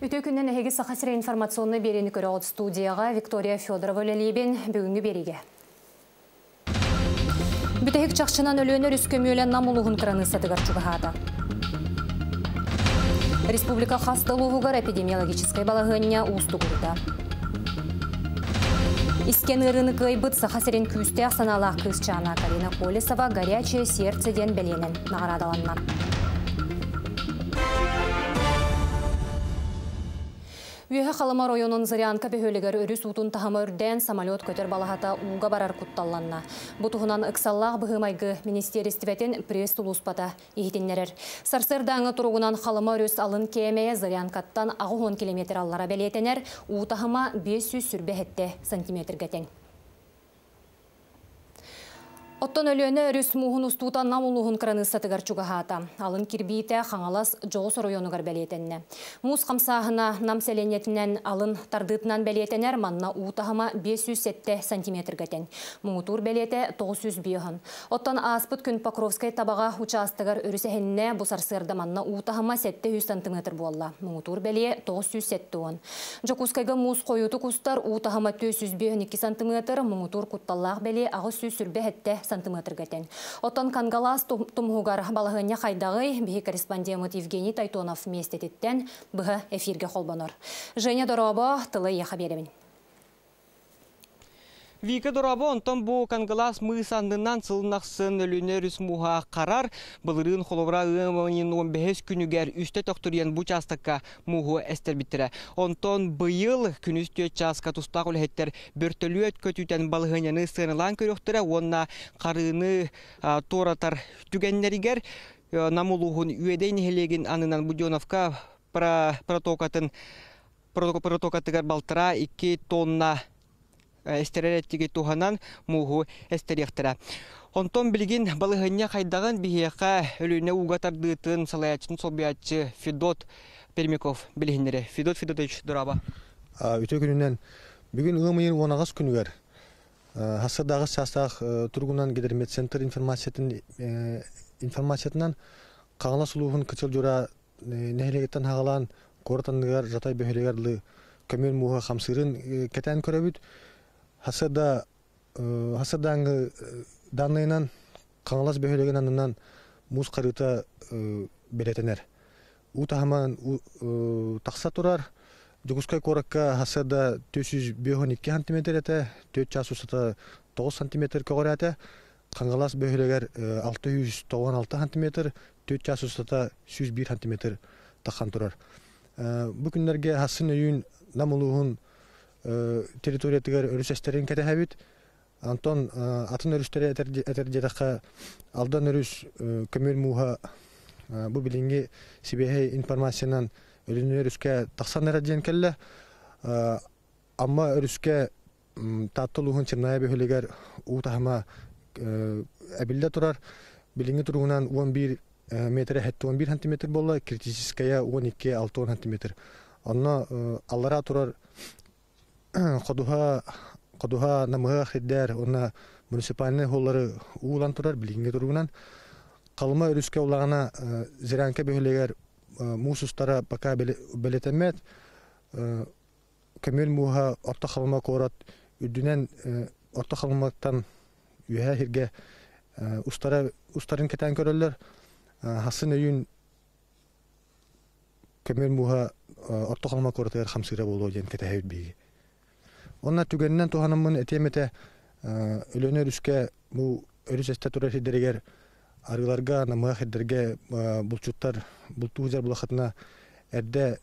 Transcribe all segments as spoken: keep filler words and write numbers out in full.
Үтө күннен эһиги Саха сирэ информационный берени көрөҕүт. Студияға Виктория Федорова үлэлиибин. Бүгүҥҥү биэриигэ. Бүтэһик чахчынан Өлүөнэ өрүс көмүөлэ Нам улууһун кыраныыссатыгар чугаһаата. Республика хас да улууһугар эпидемиологическай балаһыанньа уустугурда. Искэн ыарыыны кыайбыт Саха сирин күүстээх санаалаах кыысчаана Карина Колесова «Горячее сердце» диэн бэлиэнэн наҕараадаланна. Үөһэ Халыма оройуонун Зырянка бөһүөлэгэр өрүс уутун таһыма үрдээн, самолет көтөр балаһата ууга барар кутталланна. Бу туһунан ыксаллаах быһыы-майгы министиэристибэтин пресс-сулууспата иһитиннэрэр. Сарсыардааҥы туругунан Халыма өрүс алын кээмэйэ Зырянкаттан аҕыс уон километр аллара бэлиэтэнэр, уу таһыма биэс сүүс сүүрбэ сэттэ сантиметрга тэҥ. Оттон Өлүөнэ өрүс мууһун устуута Нам улууһун кыраныыссатыгар чугаһаата. Алын кирбиитэ Хаҥалас дьоҕус оройуонугар бэлиэтэннэ. Муус хамсааһына Нам сэлиэнньэтинэн алын тардыытынан бэлиэтэнэр, манна уу таһыма биэс сүүс сэттэ сантиметрга тэҥ. Муҥутуур бэлиэтэ тоҕус сүүс биэс. Оттон ааспыт күн Покровскай Табаҕа учаастагар өрүс эһиннэ, бу сарсыарда манна уу таһыма сэттэ сүүс сантиметр буолла. Муҥутуур бэлиэ тоҕус сүүс сэттэ уон. Дьокуускайга муус хойутук устар, уу таһыма түөрт сүүс биэс икки сантиметр, муҥутуур кутталлаах бэлиэ аҕыс сүүс сүүрбэ сэттэ сантиметрга тэҥ. Оттон Кангалаас тумуһугар балаһыанньа хайдаҕый, биһи корреспондент Евгений Тайтонов миэстэтиттэн быһа эфиргэ холбонор. Женя, дорообо, тылы эйиэхэ биэрэбин. Вика, дорообо, онтон бу Кангалаас мыыс аннынан сылын ахсын Өлүөнэ өрүс мууһа харар, былырыын холобура ыам ыйын он бэһис күнүгэр үстэ төхтүрүйэн бу учаастакка мууһу эстэрбиттэрэ. Онтон быйыл күнүс түөрт чааска тустаах үлэһиттэр бөртөлүөт көтүүтэн балаһыанньаны сыаналаан көрүөхтэрэ уонна харыыны туоратар түгэннэригэр Нам улууһун Үөдэй нэһилиэгин аннынан Буденовка протокатын протокатыгар балтараа икки тонна эстэрэр эттиги туһанан мууһу эстэриэхтэрэ. Онтон билигин балаһыанньа хайдаҕын биһиэхэ Өлүөнэ ууга тардыытын салайааччытын солбуйааччы Федот Пермяков билиһиннэрэ. Федот Федотович, дорообо. Үтүө күнүнэн. Бүгүн ыам ыйын уон аҕыс күнүгэр хассырдааҕы чаастаах туругунан Гидрометцентр информациятын информациятынан Хаҥалас улууһун Кычыл Дьура нэһилиэгиттэн хаҕалаан куорат анныгар Жатай бөһүөлэгэр көмүөл мууһа хамсыырын кэтээн көрөбүт. Хасырда хасырдааҥы данныйынан Хаҥалас бөһүөлэгин аннынан муус харыыта бэлиэтэнэр. Уу таһыман тахса турар. Дьокуускай куоракка хасырда түөрт сүүс биэс уон икки сантиметр этэ, түөрт чаас устата тоҕус сантиметр көҕүрээтэ. Хаҥалас бөһүөлэгэр алта сүүс тоҕус алта сантиметр, түөрт чаас устата сүүс биир сантиметр таххан турар. Бу күннэргэ хасын өйүүн Нам улууһун территориятыгар өрүс эстэрин кэтэһэбит. Антон атын өрүстэри этэр диэтэххэ, Алдан өрүс көмүөл мууһа бу билиҥҥи сибиэһэй информациянан Өлүөнэ өрүскэ тахсан эрэ диэн кэллэ. Амма өрүскэ Таатта улууһун Черная бөһүөлэгэр уу таһыма эбиллэ турар. Билиҥҥи туругунан уон биир метр сэттэ уон биир сантиметр буолла, критическая уон икки алта уон сантиметр. Онно аллараа турар ходуһа ходуһа намыһах сирдэр уонна муниципальнай холлары уулан турар билиҥҥи туругунан. Халыма өрүскэ улаҕана Зырянка бөһүөлэгэр муус устара пока бэлиэтэммэт. Көмүөл мууһа Орто Халыма куорат үрдүнэн Орто Халыматтан үөһээ сиргэ устара устарын кэтээн көрөллөр. Хасын өйүүн көмүөл мууһа Орто Халыма куоратыгар хамсыыра буолуо диэн кэтэһэбит биһиги. Онно түгэнинэн туһанаммын этиэм этэ, Өлүөнэ өрүскэ бу өрүс эстэ турар сирдэригэр арыыларга, намыһах сирдэргэ булчуттар бултуу сылдьар булахатына эрдэ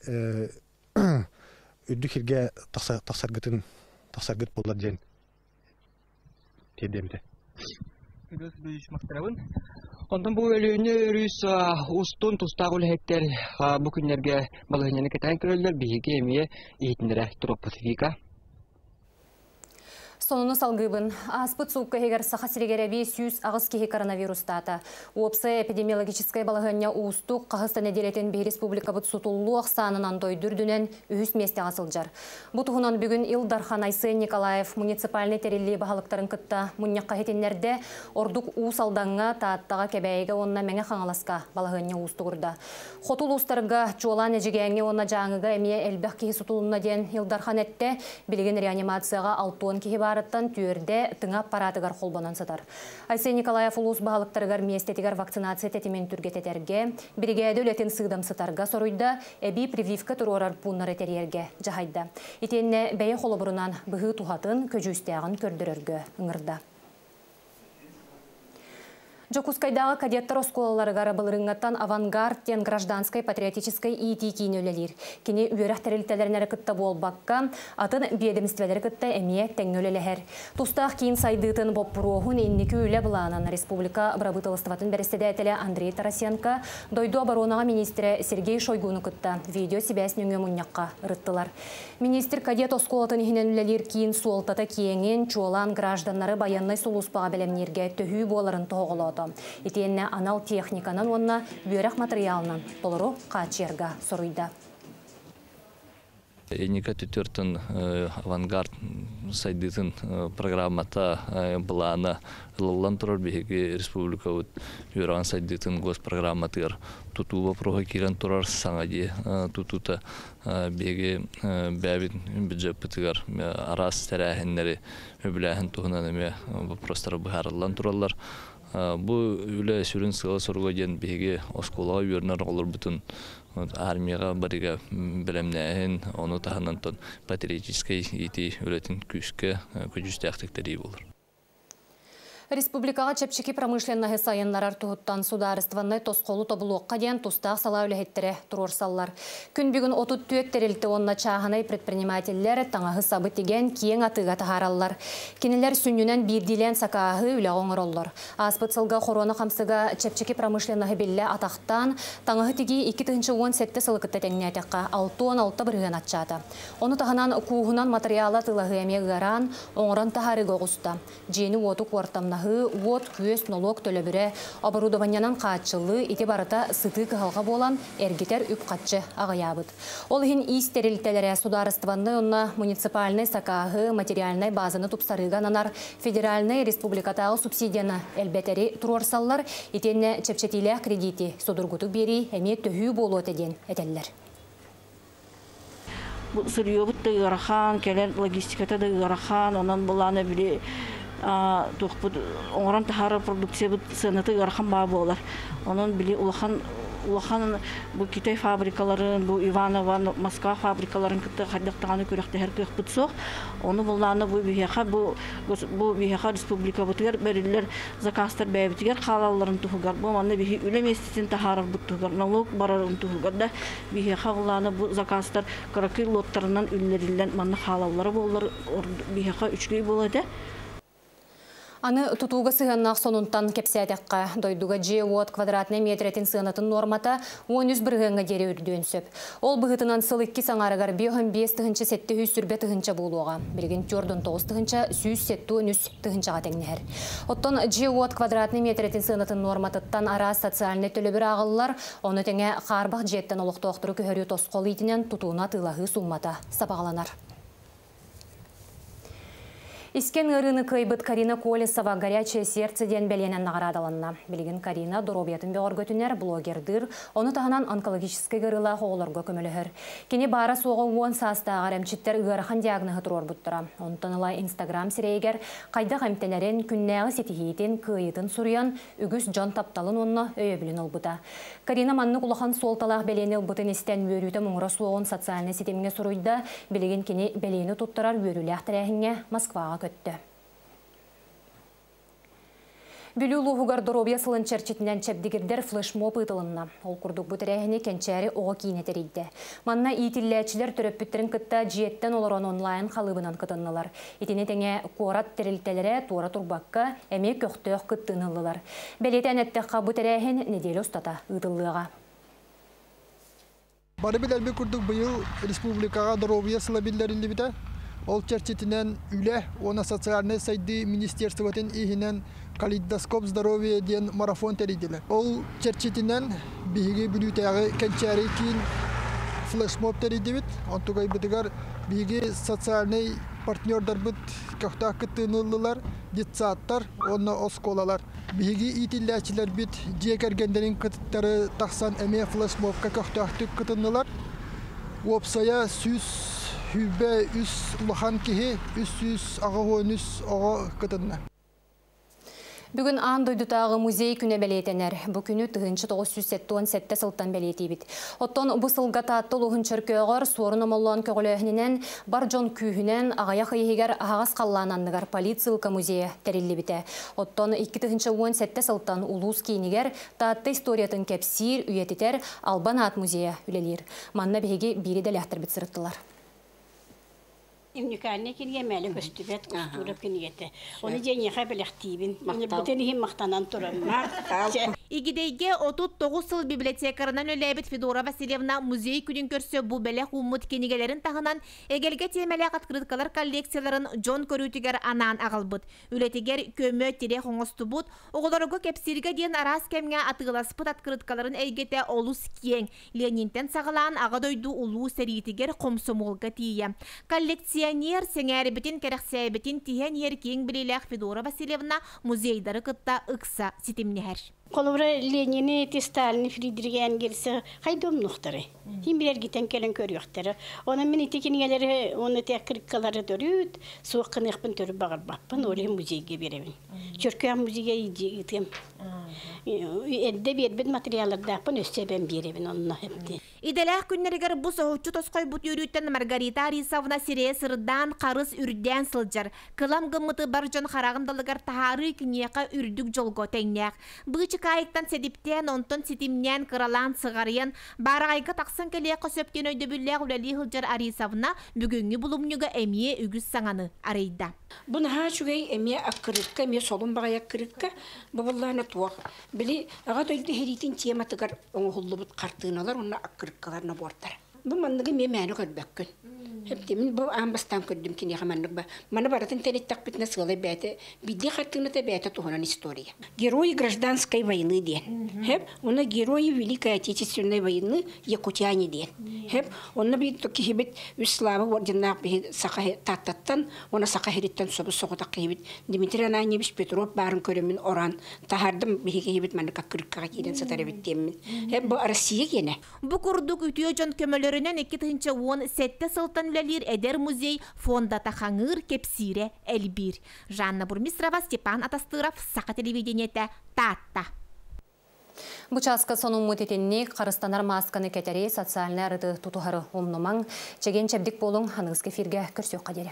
үрдүк сиргэ тахсаргытын тахсаргыт буолар диэн тиэрдиэм этэ. Онтон бу Өлүөнэ өрүс устун тустаах үлэһиттэр бу күннэргэ балаһыанньаны кэтээн көрөллөр, биһиги эмиэ иһитиннэрэ туруохпут. Вика. Сонуну салгыыбын. Ааспыт суукка иһигэр Саха сиригэр эбии сүүс аҕыс киһи коронавирустаата. Уопсай эпидемиологическай балаһыанньа уустук, хаһыс да нэдиэлэтин биһиги республикабыт сутуллуу ахсаанынан дойду үрдүнэн үһүс миэстэҕэ сылдьар. Бу туһунан бүгүн Ил Дархан Айсен Николаев муниципальнай тэриллии баһылыктарын кытта мунньахха иһитиннэрдэ. Ордук Уус Алдаҥҥа, Тааттаҕа, Кэбээйигэ уонна Мэҥэ Хаҥаласка балаһыанньа уустугурда. Хоту улуустарга, чуолаан Эдьигээҥҥэ уонна Дьааҥыга эмиэ элбэх киһи сутулунна диэн Ил Дархан эттэ. Билигин реанимацияҕа алта уон киһи баарыттан түөрдэ тыҥа аппаратыгар холбонон сытар. Айсен Николаев улуус баһылыктарыгар миэстэтигэр вакцинация тэтимин түргэтэтэргэ, биригээдэ үлэтин сыыдамсытарга соруйда, эбии прививка туруорар пууннары тэрийэргэ дьаһайда. Итиэннэ бэйэ холобурунан быһыы туһатын, көдьүүстээҕин көрдөрөргө ыҥырда. Дьокуускайдааҕы кадеттар оскуолаларыгар былырыыҥҥаттан «Авангард» диэн гражданскай патриотическай иитии киинэ үлэлиир. Кини үөрэх тэрилтэлэрин эрэ кытта буолбакка, атын биэдэмистибэлэри кытта эмиэ тэҥҥэ үлэлэһэр. Тустаах киин сайдыытын боппуруоһун, инники үлэ былаанын республика бырабыыталыстыбатын бэрэссэдээтэлэ Андрей Тарасенко дойду оборонаҕа министрэ Сергей Шойгуну кытта видео-сибээс нөҥүө мунньахха ырыттылар. Министр кадет оскуолатын иһинэн үлэлиир киин суолтата киэҥин, чуолаан гражданнары байыаннай сулууспаҕа бэлэмнииргэ төһүү буоларын тоһоҕолоото. Итиэннэ анал техниканан уонна үөрэх матырыйаалынан толору хааччыйарга соруйда. Энника түтөртөн «Авангард» сайдыытын программата, былаана ылыллан турар. Биһиги республикабыт үөрэҕин сайдыытын госпрограмматыгар тутуу боппуруоһа киирэн турар, саҥа дьиэ тутуута. Биһиги бэйэбит бюджеппытыгар араас тэрээһиннэри үбүлээһин туһунан эмиэ боппуруостар быһаарыллан тураллар. Бу үлэ сүрүн сыала-соруга диэн биһиги оскуолаҕа үөрэнэр оҕолорбутун армияҕа барыга бэлэмнээһин, ону таһынан патриотическай иитии үлэтин күүскэ көдьүүстээхтик тэрийии буолар. Республикаҕа чэпчэки промышленноһы сайыннарар туһуттан судаарыстыбаннай тосхолу тобулуохха диэн тустаах салаа үлэһиттэрэ туруорсаллар. Күн бүгүн отут түөрт тэрилтэ уонна чааһынай предпринимателлэр таҥаһы сабы тигэн киэҥ атыыга таһаараллар. Кинилэр сүнньүнэн биирдиилээн сакааһы үлэҕэ оҥороллор. Ааспыт сылга хоруона хамсыга чэпчэки промышленноһы биллэ атахтаан, таҥаһы тигии икки тыһыынча уон сэттэ сылы кытта тэҥнээтэххэ алта уон алта бырыһыан аччаата. Ону таһынан кууһунан матырыйаала атыылаһыы эмиэ ыараан, оҥорон таһаарыыга оҕуста. Дьиэни уоту куортамнаһыы, уот, күөс, нолуок төлөбүрэ, оборудованиенан хааччыллыы ити барыта сытыы кыһалҕа буолан эргитэр үп-харчы аҕыйаабыт. Ол иһин иис тэрилтэлэрэ судаарыстыбаннай уонна муниципальнай сакааһы, материальнай базаны тупсарыыга ананар федеральнай, республикатааҕы субсидияны элбэтэри туруорсаллар, итиэннэ чэпчэтиилээх кредити судургутук биэрии эмиэ төһүү буолуо этэ диэн этэллэр. Бу сырьёбут да ыарахан, кэлэр логистиката да ыарахан, онон былаана били туохпут оҥорон таһаарар продукциябыт сыаната ыарахан баа буолар. Онон били улахан улахан бу Китай фабрикаларын, бу Иваново, Москва фабрикаларын кытта хайдах даҕаны күрэхтэһэр кыахпыт суох. Ону былаана бу биһиэхэ бу бу биһиэхэ республикабытыгар бэриллэр заказтар бэйэбитигэр хаалалларын туһугар, бу манна биһи үлэ миэстэтин таһаарарбыт туһугар, налог барарын туһугар да биһиэхэ былаана бу заказтар кыракый лоттарынан үллэриллэн манна хаалаллара буоллар биһиэхэ үчүгэй буолуо этэ. Аны тутууга сыһыаннаах сонунтан кэпсээтэххэ, дойдуга дьиэ-уот квадратнай миэтэрэтин сыанатын нуормата уон үс бырыһыаҥҥа диэри үрдүөн сөп. Ол быһыытынан сыл иккис аҥаарыгар биэс уон биэс тыһыынча сэттэ сүүс сүүрбэ тыһыынча буолуоҕа. Билигин түөрт уон тоҕус тыһыынча сүүс сэттэ уон үс тыһыынчаҕа тэҥнэһэр. Оттон дьиэ-уот квадратнай миэтэрэтин сыанатын нуорматыттан араас социальнай төлөбүр ааҕыллар, ону тэҥэ хаарбах дьиэттэн олохтоохтору көһөрүү тосхол иитинэн тутууну атыылаһыы сууммата сабаҕаланар. Искэн ыарыыны кыайбыт Карина Колесова «Горячее сердце» диэн бэлиэнэн наҕараадаланна. Билигин Карина доруобуйатын бөҕөргөтүнэр, блогердыыр, ону таһынан онкологическай ыарыылаах оҕолорго көмөлөһөр. Кини баара суоҕа уон саастааҕар эмчиттэр ыарахан диагноһы туруорбуттара. Онтон ыла Инстаграм сирэйигэр хайдах эмтэнэрин, күннээҕи ситиһиитин, кыайыытын суруйан, үгүс дьон тапталын уонна өйөбүлүн ылбыта. Карина маннык улахан суолталаах бэлиэни ылбытын истэн үөрүүтэ муҥура суоҕун социальнай ситимҥэ суруйда. Билигин кини бэлиэни туттарар үөрүүлээх тэрээһиҥҥэ Москваҕа көттө. Бүлүү улууһугар доруобуйа сылын чэрчитинэн чэбдигирдэр флешмоб ыытылынна. Ол курдук бу тэрээһини Кэнчээри оҕо киинэ тэрийдэ. Манна иитиллээччилэр төрөппүттэрин кытта дьиэттэн олорон онлайн халыыбынан кытыннылар. Итини тэҥэ куорат тэрилтэлэрэ туора турбакка эмиэ көхтөөх кыттыыны ыллылар. Бэлиэтээн эттэххэ, бу тэрээһин нэдиэлэ устата ыытыллыаҕа. Бары билэрбит курдук быйыл республикаҕа доруобуйа сыла биллэриллибитэ. Ол чэрчитинэн үлэ уонна социальнай сайдыы министерствотын иһинэн «Калейдоскоп здоровья» диэн марафон тэрийдилэр. Ол чэрчитинэн биһиги Бүлүүтээҕи Кэнчээри киин флешмоб тэрийдибит. Онтукайбытыгар биһиги социальнай партнердарбыт көхтөөх кыттыыны ыллылар, детсадтар уонна оскуолалар. Биһиги иитиллээччилэрбит дьиэ кэргэннэрин кытары тахсан эмиэ флешмобка көхтөөхтүк кытыннылар. Уопсайа сүүс сүүрбэ үс улахан киһи, үс сүүс аҕыс уон үс оҕо кытынна. Бүгүн аан дойдутааҕы музей күнэ бэлиэтэнэр. Бу күнү тыһыынча тоҕус сүүс сэттэ уон сэттэ сылтан бэлиэтиибит. Оттон бу сылга Таатта улууһун Чөркөөҕөр Суорун Омоллоон көҕүлээһининэн бар дьон күүһүнэн аҕыйах ый иһигэр аһаҕас халлаан анныгар политсыылка музейа тэриллибитэ. Оттон икки тыһыынча уон сэттэ сылтан улуус киинигэр Таатта историятын кэпсиир, үйэтитэр Албан аат музейа үлэлиир. Манна биһиги биири дэлээхтэрбит сырыттылар. Уникальный кинигэ мэле көстүбэт кустуура кинигэтэ. Оны женьеха белехтиибин. Бүтен иһин мактанан турам. Игидэйгэ отут тоҕус сыл библиотекарынан үлэлээбит Федора Васильевна музей күнүн көрсө бу бэлэх ууммут кинигэлэрин таһынан эгэлгэ тиэмэлээх открыткалар коллекцияларын дьон көрүүтүгэр анаан аҕалбыт. Үлэтигэр көмө тирэх оҥостубут, оҕолорго кэпсииргэ диэн араас кэмҥэ атыыласпыт открыткаларын эйгэтэ олус киэҥ. Ленинтэн саҕалаан Аҕа дойду улуу сэриитигэр хомсомуолга тиийэ. Коллекционер сэҥээрбитин кэрэхсээбитин тиһэн иһэр киэҥ билиилээх Федора Васильевна музейдары кытта ыкса ситимнэһэр. Холобура Ленини, Сталини, Фридрих Энгельси хайдом нухтары. Хим билер гитен келен көрүөхтөрө. Онон мин ити кинигэлери, оны те кырыккалары төрүт, суох кыныхпын төрүп багарбаппын, оле музейге беребин. Чөркөөх музейге иди ытым. Эдде бербит материаллардааппын өссө бен беребин онно хепти. Иделээх күннэригэр бу соһуччу тосхойбут үөрүүттэн Маргарита Арисовна сирэйэ сырдаан харыс үрдээн сылдьар. Кылам гыммыты бар дьон хараҕын далыгар таһаарыы киниэхэ үрдүк дьолго тэҥнээх. Быычыкаайыктан сэдиптээн, онтон ситимнээн кыралаан сыҕарыйан, баараҕайга тахсан кэлиэххэ сөп диэн өйдөбүллээх үлэлии сылдьар Арисовна бүгүҥҥү булумньуга эмиэ үгүс саҥаны арыйда. Бу наһаа үчүгэй эмиэ аккырыкка, эмиэ солун баҕайы аккырыкка, бу буллаана туох. Били аҕа дойду сэриитин тематыгар оҥоһуллубут хартыыналар уонна аккырыккалар набордара. Бу манныгы эмиэ мээнэ көрбөккүн. Хэптэ мин бу аан бастаан көрдүм киниэхэ маннык ба. Маны барытын тэниттэхпитинэ сыалай бэйэтэ, биирдии хартыыната бэйэтэ туһунан история. Герои гражданской войны диэн. Хэп, уонна герои Великой Отечественной войны якутяне диэн. Хэп, онно биир киһибит үс Слава орденнаах биһи саха Тааттаттан, уонна саха сириттэн собус соҕотох киһибит Дмитрий Ананьевич Петров баарын көрөммүн оран таһаардым биһи киһибит маннык аккырыккаҕа киирэн сытар эбит диэммин. Хэп, бу Россия киэнэ. Бу курдук үтүө дьон көмөлөрүнэн икки тыһыынча уон сэттэ сылтан үлэлиир эдэр музей фондата хаҥыыр кэпсиирэ элбиир. Жанна Бурмистрова, Степан Атастыров, Саха телевидениетэ, Таатта. Бу чааска сонуммут итинник харыстанар маасканы кэтэри социальнай арыты тутуһары умнумаҥ. Чэгиэн чэбдик буолуҥ, аныгыскы эфиргэ көрсүөххэ диэри.